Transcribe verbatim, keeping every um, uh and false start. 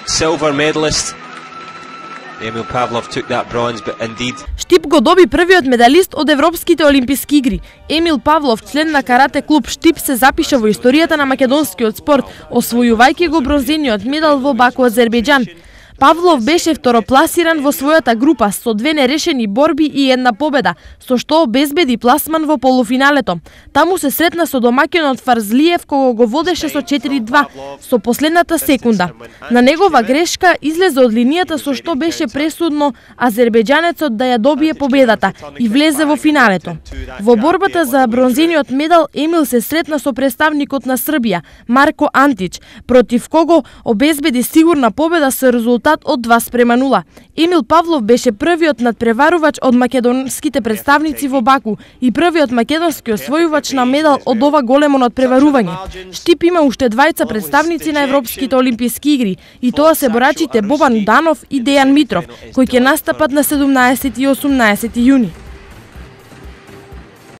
silver medalist. Emil Pavlov took that bronze, but indeed Штип го доби првиот медалист од Европските олимписки игри. Емил Павлов, член на карате клуб Штип, се запиша во историјата на македонскиот спорт, освојувајќи го бронзениот медал во Баку, Азербејџан. Павлов беше второпласиран во својата група со две нерешени борби и една победа, со што обезбеди пласман во полуфиналето. Таму се сретна со домаќинот Фарзлиев, кого го водеше со четири два со последната секунда. На негова грешка излезе од линијата, со што беше пресудно азербејџанецот да ја добие победата и влезе во финалето. Во борбата за бронзениот медал Емил се сретна со представникот на Србија, Марко Антич, против кого обезбеди сигурна победа со резултат од два спрема нула. Емил Павлов беше првиот надпреварувач од македонските представници во Баку и првиот македонски освојувач на медал од ова големо надпреварување. Штип има уште двајца представници на Европските олимписки игри, и тоа се борачите Бобан Данов и Дејан Митров, кои ќе настапат на седумнаесети и осумнаесети јуни.